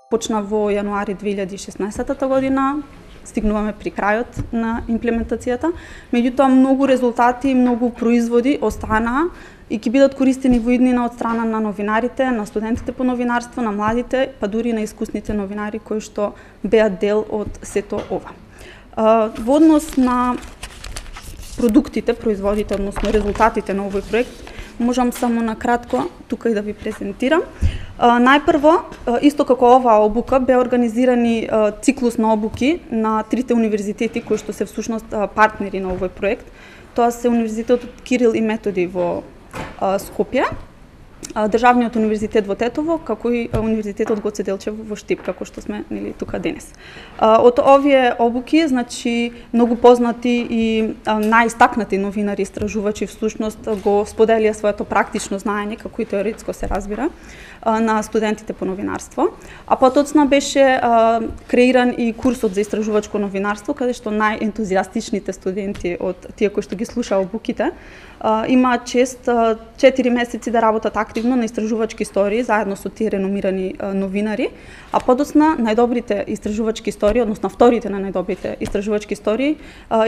Почна во јануари 2016 година, стигнуваме при крајот на имплементацијата. Меѓутоа, многу резултати и многу производи останаа и ќе бидат користени во иднина од страна на новинарите, на студентите по новинарство, на младите, па дури на искусните новинари кои што беа дел од сето ова. Во однос на продуктите, производите, односно резултатите на овој проект, можам само на кратко тука и да ви презентирам. Најпрво, исто како оваа обука, беа организирани циклус на обуки на трите универзитети кои што се всушност партнери на овој проект. Тоа се Универзитетот Кирил и Методи во Скопје, Државниот универзитет во Тетово, како и Универзитетот Гоце Делчев во Штип, како што сме тука денес. Од овие обуки, значи, многу познати и најистакнати новинари и истражувачи всушност го споделија своето практично знаење, како и теоретско се разбира, на студентите по новинарство. А потоцна беше креиран и курсот за истражувачко новинарство, каде што најентузијастичните студенти од тие кои што ги слушаа обуките имаат чест 4 месеци да работат активно на истражувачки истории заедно со тие реномирани новинари, а подоцна најдобрите истражувачки истории, односно вторите на најдобрите истражувачки истории,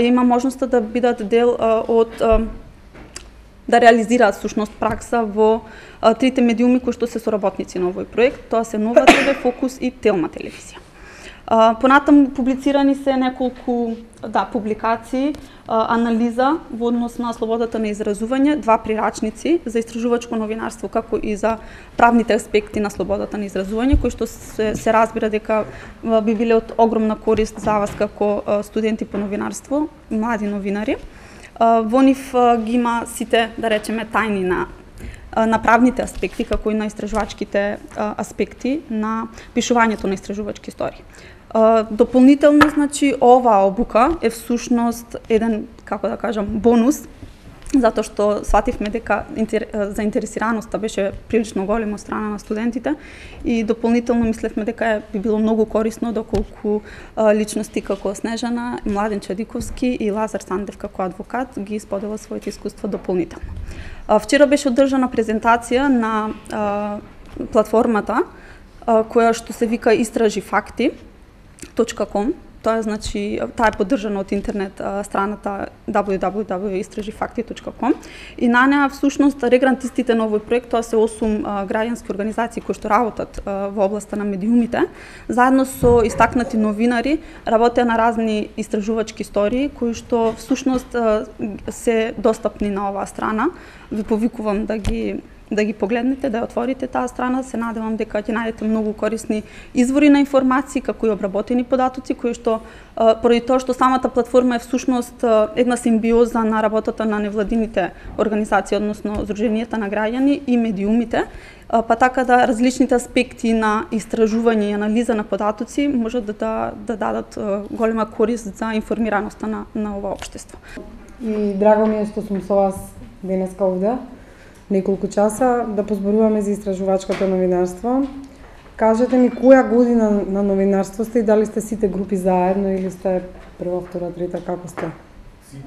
има можноста да бидат дел од да реализираат всушност пракса во трите медиуми кои што се соработници на овој проект. Тоа се Нова ТВ, Фокус и Телма телевизија. Понатаму публицирани се неколку публикации, анализа во однос на слободата на изразување, 2 прирачници за истражувачко новинарство, како и за правните аспекти на слободата на изразување, кои што се разбира дека би биле од огромна корист за вас како студенти по новинарство, млади новинари. Во нив ги има сите, да речеме, тајни на правните аспекти, како и на истражувачките аспекти на пишувањето на истражувачки истории. Дополнително, значи, оваа обука е всушност еден, како да кажам, бонус, затоа што свативме дека заинтересираноста беше прилично голема од страна на студентите и дополнително мислевме дека би било многу корисно доколку личности како Снежана, Младен Чадиковски и Лазар Сандев како адвокат ги споделат своите искуства дополнително. Вчера беше одржана презентација на платформата која што се вика istražifakti.com. Тоа е, значи, таа е поддржана од интернет страната www.istražifakti.com и на неа всушност регрантистите на овој проект, тоа се 8 граѓански организации кои што работат во областа на медиумите, заедно со истакнати новинари работеа на разни истражувачки истории кои што всушност се достапни на оваа страна. Ви повикувам да ги погледнете, да ја отворите таа страна. Се надевам дека ќе најдете многу корисни извори на информации, како и обработени податоци, кои што, поради тоа што самата платформа е всушност една симбиоза на работата на невладините организации, односно Сдруженијата на граѓани и медиумите, па така да различните аспекти на истражување и анализа на податоци можат да дадат голема корист за информираноста на ова општество. И драго ми е што сум со вас денеска овде, неколку часа, да позборуваме за истражувачкото новинарство. Кажете ми, која година на новинарство сте и дали сте сите групи заедно или сте прва, втора, трета, како сте? Сите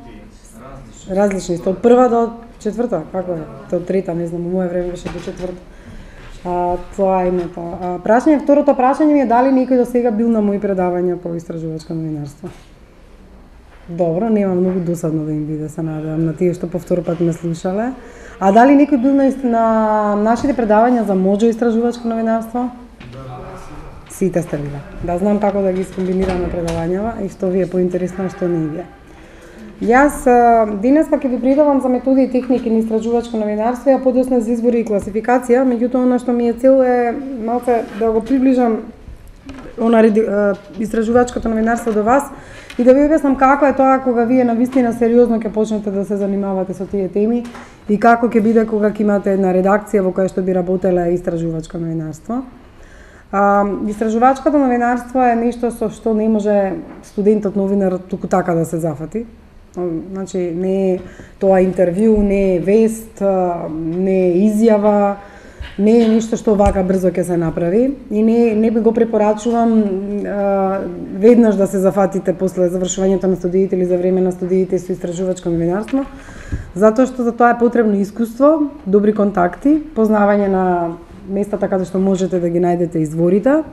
различни сте, од прва до четврта, како е? До трета, не знам, во моје време беше до четврта. Тоа е името. Второто прашање ми е дали некој до сега бил на мои предавања по истражувачко новинарство? Добро, нема многу досадно да им биде, се надевам, на тие што по втор пат ме слушале. А дали некој бил на нашите предавања за можо истражувачко новинарство? Сите сте биле. Да знам како да ги скомбинираме предавањава и што ви е поинтересно, што не ви е. Јас денеска ќе ви предавам за методи и техники на истражувачко новинарство, а подоцна за избори и класификација, меѓутоа она што ми е цел е малце да го приближам истражувачкото новинарство до вас и да ви објаснам како е тоа кога вие навистина сериозно ќе почнете да се занимавате со тие теми и како ќе биде кога ќе имате една редакција во која што би работеле истражувачко новинарство. Истражувачкото новинарство е нешто со што не може студентот новинар туку така да се зафати. Значи, не е тоа интервју, не е вест, не е изјава, не е ништо што вака брзо ќе се направи и не би го препорачувам веднаш да се зафатите после завршувањето на студиите или за време на студиите со истражувачко новинарство, затоа што за тоа е потребно искуство, добри контакти, познавање на местата каде што можете да ги најдете изворите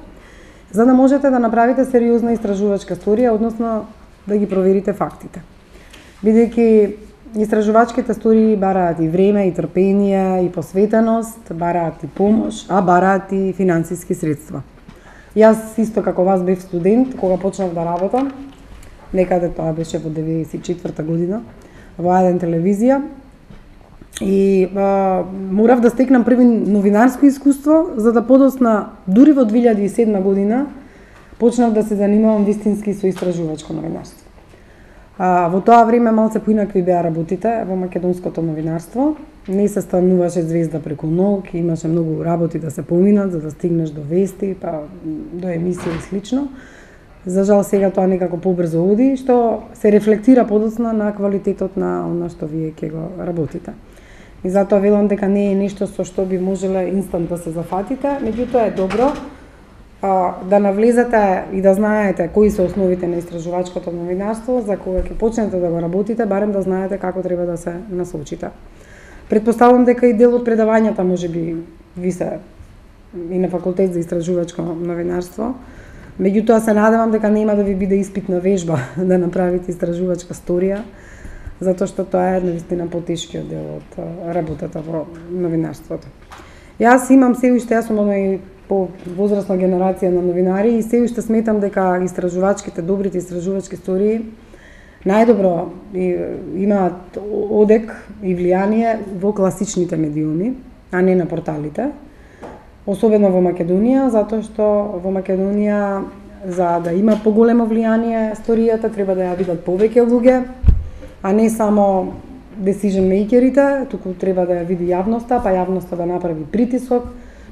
за да можете да направите сериозна истражувачка сторија, односно да ги проверите фактите. Бидејќи истражувачките стории бараат и време, и трпение, и посветеност, бараат и помош, а бараат и финансиски средства. Јас исто како вас бев студент кога почнав да работам, некаде тоа беше во 94-та година, во А1 телевизија, и морав да стекнам први новинарско искуство, за да подосна, дури во 2007 година, почнав да се занимавам вистински со истражувачко новинарство. Во тоа време малце поинакви беа работите во македонското новинарство. Не се стануваше звезда преку ног, имаше многу работи да се поминат за да стигнеш до вести, па до емисија и слично. За жал сега тоа некако побрзо оди, што се рефлектира подоцна на квалитетот на она што вие ќе го работите. И затоа велам дека не е нешто со што би можеле инстант да се зафатите, меѓутоа е добро да навлезете и да знаете кои се основите на истражувачкото новинарство, за кога ќе почнете да го работите, барем да знаете како треба да се насочите. Предпоставувам дека и дел од предавањата можеби ви се и на факултет за истражувачко новинарство. Меѓутоа се надевам дека нема да ви биде испитна вежба да направите истражувачка сторија, затоа што тоа е навистина потешкиот дел од работата во новинарството. Јас имам се уште, јас сум и по возрастна генерација на новинари и се уште сметам дека истражувачките, добрите истражувачки стории најдобро имаат одек и влијание во класичните медиуми, а не на порталите. Особено во Македонија, затоа што во Македонија за да има поголемо влијание сторијата треба да ја видат повеќе луѓе, а не само decision makerите, туку треба да ја види јавноста, па јавноста да направи притисок,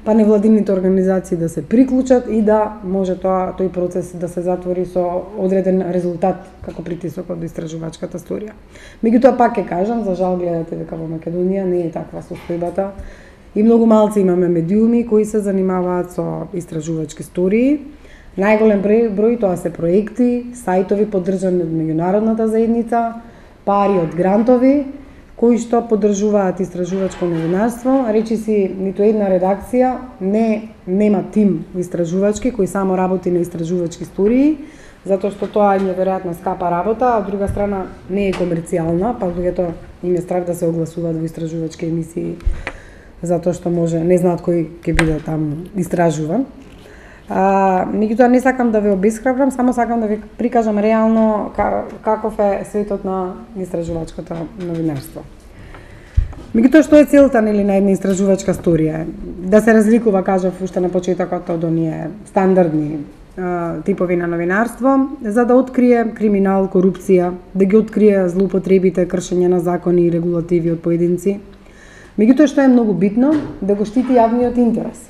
па невладините организации да се приклучат и да може тој процес да се затвори со одреден резултат како притисок од истражувачката сторија. Меѓутоа пак ќе кажам, за жал гледате дека во Македонија не е таква состојбата и многу малци имаме медиуми кои се занимаваат со истражувачки стории. Најголем број тоа се проекти, сајтови поддржани од меѓународната заедница, пари од грантови кои што поддржуваат истражувачко новинарство. Речиси, ниту една редакција нема тим истражувачки кој само работи на истражувачки стории, затоа што тоа е неверојатно скапа работа, а од друга страна не е комерцијална, па луѓето им е страх да се огласуваат во истражувачки емисии, затоа што може не знаат кој ќе биде там истражуван. Меѓутоа не сакам да ве обесхрабрам, само сакам да ви прикажам реално каков е светот на истражувачкото новинарство. Меѓутоа што е целта на една истражувачка сторија? Да се разликува, кажав уште на почетокот, од оние стандардни типови на новинарство, за да открие криминал, корупција, да ги открие злоупотребите, кршење на закони и регулативи од поединци. Меѓутоа што е многу битно, да го штити јавниот интерес.